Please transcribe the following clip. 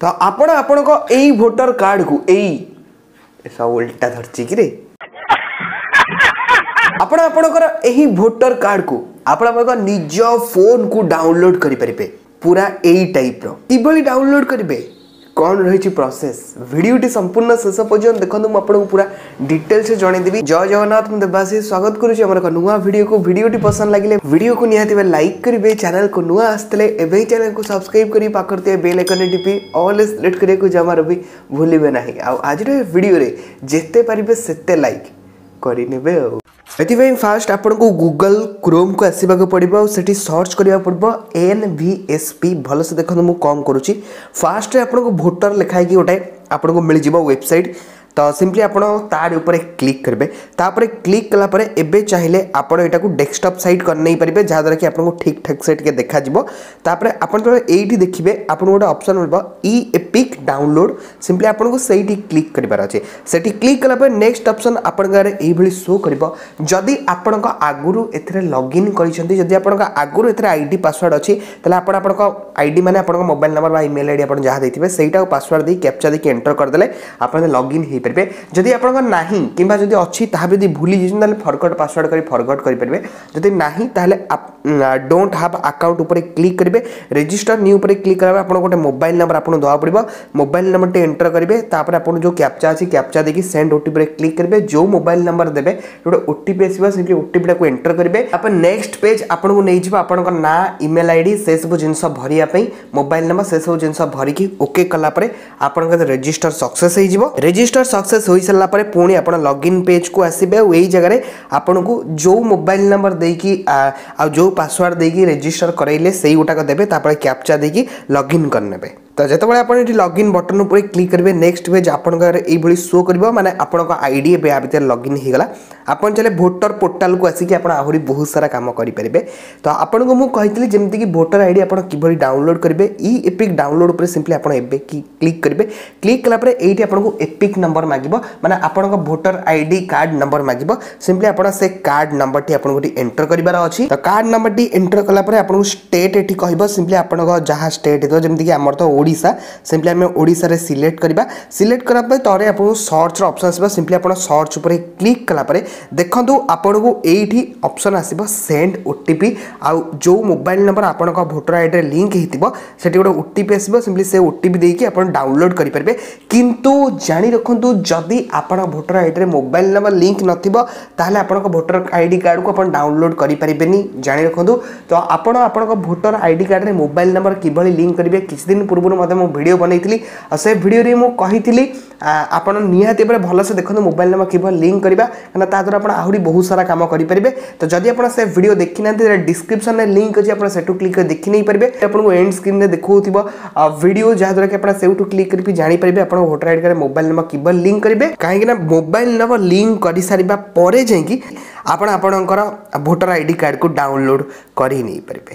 ତ ଆପଣ ଆପଣଙ୍କ ଏଇ ଭୋଟର କାର୍ଡକୁ ଏଇ ସବୁ ଉଲ୍ଟା ଧରିଛି କିରେ। ଆପଣ ଆପଣଙ୍କର ଏହି ଭୋଟର କାର୍ଡକୁ ଆପଣ ଆପଣଙ୍କ ନିଜ ଫୋନକୁ ଡାଉନଲୋଡ୍ କରିପାରିବେ ପୁରା ଏଇ ଟାଇପ୍ର। କିଭଳି ଡାଉନଲୋଡ୍ କରିବେ, କ'ଣ ରହିଛି ପ୍ରୋସେସ୍, ଭିଡ଼ିଓଟି ସମ୍ପୂର୍ଣ୍ଣ ଶେଷ ପର୍ଯ୍ୟନ୍ତ ଦେଖନ୍ତୁ, ମୁଁ ଆପଣଙ୍କୁ ପୁରା ଡିଟେଲ୍ସରେ ଜଣେଇଦେବି। ଜୟ ଜଗନ୍ନାଥ, ମୁଁ ଦେବାଶିଷ, ସ୍ୱାଗତ କରୁଛି ଆମର ଏକ ନୂଆ ଭିଡ଼ିଓକୁ। ଭିଡ଼ିଓଟି ପସନ୍ଦ ଲାଗିଲେ ଭିଡ଼ିଓକୁ ନିହାତି ଭାବେ ଲାଇକ୍ କରିବେ। ଚ୍ୟାନେଲକୁ ନୂଆ ଆସିଥିଲେ ଏବେ ହିଁ ଚ୍ୟାନେଲକୁ ସବସ୍କ୍ରାଇବ୍ କରି ପାଖରେ ଥିବା ବେଲ୍ ଆଇକନ୍ରେ ଟିପି ଅଲ୍ ସିଲେକ୍ଟ କରିବାକୁ ଜମାରୁ ବି ଭୁଲିବେ ନାହିଁ। ଆଉ ଆଜିର ଏ ଭିଡ଼ିଓରେ ଯେତେ ପାରିବେ ସେତେ ଲାଇକ୍ କରିନେବେ। ଆଉ ଏଥିପାଇଁ ଫାଷ୍ଟ ଆପଣଙ୍କୁ ଗୁଗଲ କ୍ରୋମ୍କୁ ଆସିବାକୁ ପଡ଼ିବ ଆଉ ସେଠି ସର୍ଚ୍ଚ କରିବାକୁ ପଡ଼ିବ NVSP। ଭଲସେ ଦେଖନ୍ତୁ ମୁଁ କ'ଣ କରୁଛି। ଫାଷ୍ଟରେ ଆପଣଙ୍କୁ ଭୋଟର ଲେଖା ହେଇକି ଗୋଟେ ଆପଣଙ୍କୁ ମିଳିଯିବ ୱେବସାଇଟ୍। ତ ସିମ୍ପଲି ଆପଣ ତାରି ଉପରେ କ୍ଲିକ୍ କରିବେ। ତାପରେ କ୍ଲିକ୍ କଲା ପରେ ଏବେ ଚାହିଁଲେ ଆପଣ ଏଇଟାକୁ ଡେସ୍କଟପ୍ ସାଇଟ୍ କରିନେଇପାରିବେ, ଯାହାଦ୍ୱାରା କି ଆପଣଙ୍କୁ ଠିକ୍ ଠାକ୍ ସେ ଟିକେ ଦେଖାଯିବ। ତାପରେ ଆପଣ ଯେତେବେଳେ ଏଇଠି ଦେଖିବେ, ଆପଣଙ୍କୁ ଗୋଟେ ଅପସନ୍ ମିଳିବ ଇ ଏପିକ୍ ଡାଉନଲୋଡ୍। ସିମ୍ପଲି ଆପଣଙ୍କୁ ସେଇଠି କ୍ଲିକ୍ କରିବାର ଅଛି। ସେଠି କ୍ଲିକ୍ କଲା ପରେ ନେକ୍ସଟ ଅପସନ୍ ଆପଣଙ୍କ ଆଗରେ ଏଇଭଳି ଶୋ କରିବ। ଯଦି ଆପଣଙ୍କ ଆଗରୁ ଏଥିରେ ଲଗ୍ଇନ୍ କରିଛନ୍ତି, ଯଦି ଆପଣଙ୍କ ଆଗରୁ ଏଥିରେ ID password ଅଛି, ତାହେଲେ ଆପଣ ଆପଣଙ୍କ ID ମାନେ ଆପଣଙ୍କ ମୋବାଇଲ ନମ୍ବର ବା ଇମେଲ୍ ID ଆପଣ ଯାହା ଦେଇଥିବେ ସେଇଟାକୁ ପାସୱାର୍ଡ଼ ଦେଇ କ୍ୟାପଚା ଦେଇକି ଏଣ୍ଟର କରିଦେଲେ ଆପଣ ଲଗ୍ଇନ୍ ହେଇପାରିବେ। ଯଦି ଆପଣଙ୍କ ନାହିଁ କିମ୍ବା ଯଦି ଅଛି ତାହା ବି ଯଦି ଭୁଲି ଯାଇଛନ୍ତି, ତାହେଲେ ଫରଗଟ୍ ପାସୱାର୍ଡ଼ କରି ଫରଗଟ୍ କରିପାରିବେ। ଯଦି ନାହିଁ, ତାହେଲେ don't have account ଉପରେ କ୍ଲିକ୍ କରିବେ। ରେଜିଷ୍ଟର ନ୍ୟୁ ଉପରେ କ୍ଲିକ୍ କଲା ପରେ ଆପଣଙ୍କୁ ଗୋଟେ ମୋବାଇଲ ନମ୍ବର ଆପଣଙ୍କୁ ଦେବାକୁ ପଡ଼ିବ। ମୋବାଇଲ ନମ୍ବରଟି ଏଣ୍ଟର କରିବେ। ତାପରେ ଆପଣ ଯେଉଁ କ୍ୟାପଚା ଅଛି, କ୍ୟାପଚା ଦେଇକି ସେଣ୍ଡ ଓଟିପିରେ କ୍ଲିକ୍ କରିବେ। ଯେଉଁ ମୋବାଇଲ ନମ୍ବର ଦେବେ, ଗୋଟେ ଓଟିପି ଆସିବ, ସେଠି ଓଟିପିଟାକୁ ଏଣ୍ଟର କରିବେ। ତାପରେ ନେକ୍ସଟ ପେଜ୍ ଆପଣଙ୍କୁ ନେଇଯିବ ଆପଣଙ୍କ ନାଁ, ଇମେଲ୍ ID ସେସବୁ ଜିନିଷ ଭରିବା ପାଇଁ, ମୋବାଇଲ ନମ୍ବର ସେସବୁ ଜିନିଷ ଭରିକି ଓକେ କଲା ପରେ ଆପଣଙ୍କ ରେଜିଷ୍ଟର ସକ୍ସେସ୍ ହେଇଯିବ। ରେଜିଷ୍ଟର ସକ୍ସେସ୍ ହୋଇସାରିଲା ପରେ ପୁଣି ଆପଣ ଲଗ୍ଇନ୍ ପେଜ୍କୁ ଆସିବେ ଆଉ ଏଇ ଜାଗାରେ ଆପଣଙ୍କୁ ଯେଉଁ ମୋବାଇଲ ନମ୍ବର ଦେଇକି ଆଉ ଯେଉଁ ପାସୱାର୍ଡ଼ ଦେଇକି ରେଜିଷ୍ଟର କରାଇଲେ ସେଇ ଗୋଟାକ ଦେବେ। ତାପରେ କ୍ୟାପଚା ଦେଇକି ଲଗ୍ଇନ୍ କରିନେବେ। ତ ଯେତେବେଳେ ଆପଣ ଏଠି ଲଗ୍ଇନ୍ ବଟନ୍ ଉପରେ କ୍ଲିକ୍ କରିବେ, ନେକ୍ସଟ ପେଜ୍ ଆପଣଙ୍କ ଏଇଭଳି ଶୋ କରିବ, ମାନେ ଆପଣଙ୍କ ID ଏବେ ୟା ଭିତରେ ଲଗ୍ଇନ୍ ହେଇଗଲା। ଆପଣ ଚାହିଁଲେ ଭୋଟର ପୋର୍ଟାଲକୁ ଆସିକି ଆପଣ ଆହୁରି ବହୁତ ସାରା କାମ କରିପାରିବେ। ତ ଆପଣଙ୍କୁ ମୁଁ କହିଥିଲି ଯେମିତିକି ଭୋଟର ID ଆପଣ କିଭଳି ଡାଉନଲୋଡ୍ କରିବେ। ଇ ଏପିକ୍ ଡାଉନଲୋଡ୍ ଉପରେ ସିମ୍ପଲି ଆପଣ ଏବେ କ୍ଲିକ୍ କରିବେ। କ୍ଲିକ୍ କଲା ପରେ ଏଇଠି ଆପଣଙ୍କୁ ଏପିକ୍ ନମ୍ବର ମାଗିବ, ମାନେ ଆପଣଙ୍କ ଭୋଟର ID card number ମାଗିବ। ସିମ୍ପଲି ଆପଣ ସେ କାର୍ଡ଼ ନମ୍ବରଟି ଆପଣଙ୍କୁ ଏଠି ଏଣ୍ଟର କରିବାର ଅଛି। ତ କାର୍ଡ଼ ନମ୍ବରଟି ଏଣ୍ଟର କଲା ପରେ ଆପଣଙ୍କୁ ଷ୍ଟେଟ୍ ଏଠି କହିବ। ସିମ୍ପଲି ଆପଣଙ୍କ ଯାହା ଷ୍ଟେଟ୍ ହେଇଥିବ, ଯେମିତିକି ଆମର ତ ଓଡ଼ିଶା, ସିମ୍ପଲି ଆମେ ଓଡ଼ିଶାରେ ସିଲେକ୍ଟ କରିବା। ସିଲେକ୍ଟ କଲା ପରେ ତଳେ ଆପଣଙ୍କୁ ସର୍ଚ୍ଚର ଅପସନ୍ ଆସିବ। ସିମ୍ପଲି ଆପଣ ସର୍ଚ୍ଚ ଉପରେ କ୍ଲିକ୍ କଲା ପରେ ଦେଖନ୍ତୁ ଆପଣଙ୍କୁ ଏଇଠି ଅପସନ୍ ଆସିବ ସେଣ୍ଡ OTP। ଆଉ ଯେଉଁ ମୋବାଇଲ ନମ୍ବର ଆପଣଙ୍କ ଭୋଟର ଆଇଡ଼ିରେ ଲିଙ୍କ୍ ହେଇଥିବ, ସେଠି ଗୋଟେ OTP ଆସିବ। ସିମ୍ପଲି ସେ OTP ଦେଇକି ଆପଣ ଡାଉନଲୋଡ୍ କରିପାରିବେ। କିନ୍ତୁ ଜାଣି ରଖନ୍ତୁ, ଯଦି ଆପଣ ଭୋଟର ଆଇଡ଼ିରେ ମୋବାଇଲ ନମ୍ବର ଲିଙ୍କ୍ ନଥିବ, ତାହେଲେ ଆପଣଙ୍କ ଭୋଟର ID କାର୍ଡ଼କୁ ଆପଣ ଡାଉନଲୋଡ୍ କରିପାରିବେନି, ଜାଣି ରଖନ୍ତୁ। ତ ଆପଣ ଆପଣଙ୍କ ଭୋଟର ID କାର୍ଡ଼ରେ ମୋବାଇଲ ନମ୍ବର କିଭଳି ଲିଙ୍କ୍ କରିବେ, କିଛି ଦିନ ପୂର୍ବରୁ ମଧ୍ୟ ମୁଁ ଭିଡ଼ିଓ ବନେଇଥିଲି ଆଉ ସେ ଭିଡ଼ିଓରେ ମୁଁ କହିଥିଲି। ଆପଣ ନିହାତି ଭାବରେ ଭଲସେ ଦେଖନ୍ତୁ ମୋବାଇଲ ନମ୍ବର କିଭଳି ଲିଙ୍କ୍ କରିବା, କାରଣ ତା ଦ୍ୱାରା ଆପଣ ଆହୁରି ବହୁତ ସାରା କାମ କରିପାରିବେ। ତ ଯଦି ଆପଣ ସେ ଭିଡ଼ିଓ ଦେଖିନାହାନ୍ତି, ତାହେଲେ ଡିସ୍କ୍ରିପ୍ସନରେ ଲିଙ୍କ୍ ଅଛି, ଆପଣ ସେଠୁ କ୍ଲିକ୍ କରି ଦେଖି ନେଇପାରିବେ। ଆପଣଙ୍କୁ ଏଣ୍ଡ ସ୍କ୍ରିନ୍ରେ ଦେଖାଉଥିବ ଭିଡ଼ିଓ, ଯାହାଦ୍ୱାରା କି ଆପଣ ସେଇଠୁ କ୍ଲିକ୍ କରିକି ଜାଣିପାରିବେ ଆପଣଙ୍କ ଭୋଟର ID କାର୍ଡ଼ରେ ମୋବାଇଲ ନମ୍ବର କିଭଳି ଲିଙ୍କ୍ କରିବେ। କାହିଁକିନା ମୋବାଇଲ ନମ୍ବର ଲିଙ୍କ୍ କରିସାରିବା ପରେ ଯାଇକି ଆପଣ ଆପଣଙ୍କର ଭୋଟର ID କାର୍ଡ଼କୁ ଡାଉନଲୋଡ୍ କରି ନେଇପାରିବେ।